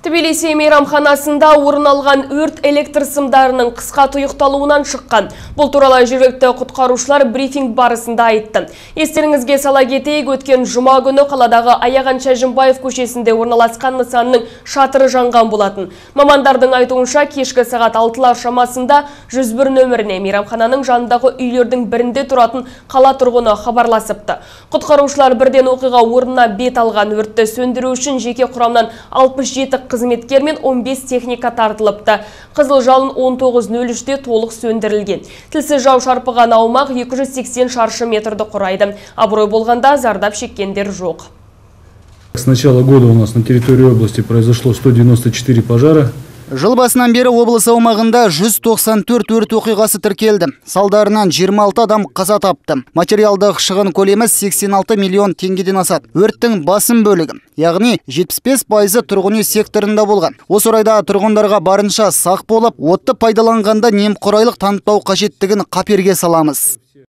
Тбилиси мейрамханасында орын алған өрт электр сымдарының қысқа тұйықталуынан шыққан. Бұл туралы жергілікті құтқарушылар брифинг барысында айтты. Естеріңізге сала кетейік, өткен жұма күні қаладағы Аяған Шәжімбаев көшесінде орналасқан нысанның шатыры жанған болатын. Мамандардың айтуынша кешкі сағат 6-лар шамасында 101 нөміріне мейрамхананың жанындағы үйлердің бірінде тұратын қала тұрғыны хабарласыпты. Құтқарушылар бірден оқиға орнына бет алған. Өртті сөндіру үшін жеке құрамнан 67 қызметкер мен 15 техника тартылыпты. Қызыл жалын 19:03-те толық сөндірілген. Тілсіз жау шарпыған аумақ 280 шаршы метрді құрайды. Абырой болғанда зардап шеккендер жоқ. С начала года у нас на территории области произошло 194 пожара. Жыл басынан бері облыс аумағында 194 өрт оқиғасы тіркелді. Салдарынан 26 адам қаза тапты. Материалдық шығын көлемі 86 миллион теңгеден асады. Өрттің басым бөлігі, яғни 75% тұрғын үй секторында болған. Осы орайда тұрғындарға барынша сақ болып, отты пайдаланғанда немқұрайлық танытпау қажеттігін қаперге саламыз.